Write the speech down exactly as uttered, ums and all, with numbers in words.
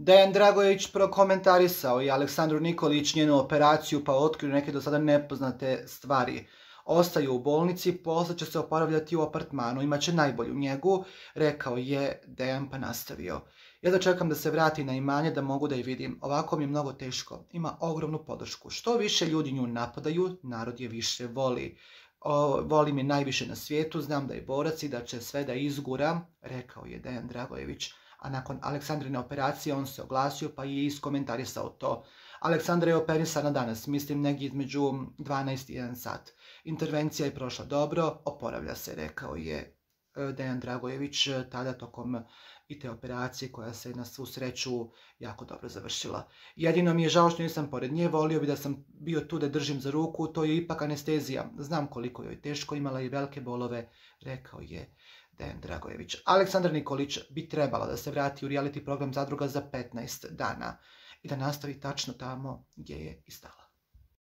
Dejan Dragojević prokomentarisao i Aleksandru Nikolić njenu operaciju pa otkrio neke do sada nepoznate stvari. Ostaju u bolnici, posle će se oporavljati u apartmanu, imaće najbolju njegu, rekao je Dejan pa nastavio. Ja da čekam da se vrati na imanje da mogu da je vidim, ovako mi je mnogo teško, ima ogromnu podršku. Što više ljudi nju napadaju, narod je više voli. O, volim je najviše na svijetu, znam da je borac i da će sve da izgura, rekao je Dejan Dragojević. A nakon Aleksandrine operacije on se oglasio pa je iskomentarisao to. Aleksandra je operisana danas, mislim negdje između dvanaest i jedan sat. Intervencija je prošla dobro, oporavlja se, rekao je Dejan Dragojević tada tokom i te operacije koja se na svu sreću jako dobro završila. Jedino mi je žao što nisam pored nje, volio bi da sam bio tu da držim za ruku, to je ipak anestezija. Znam koliko joj teško, imala je velike bolove, rekao je Dejan Dragojević. Aleksandar Nikolić bi trebala da se vrati u reality program Zadruga za petnaest dana i da nastavi tačno tamo gdje je i stala.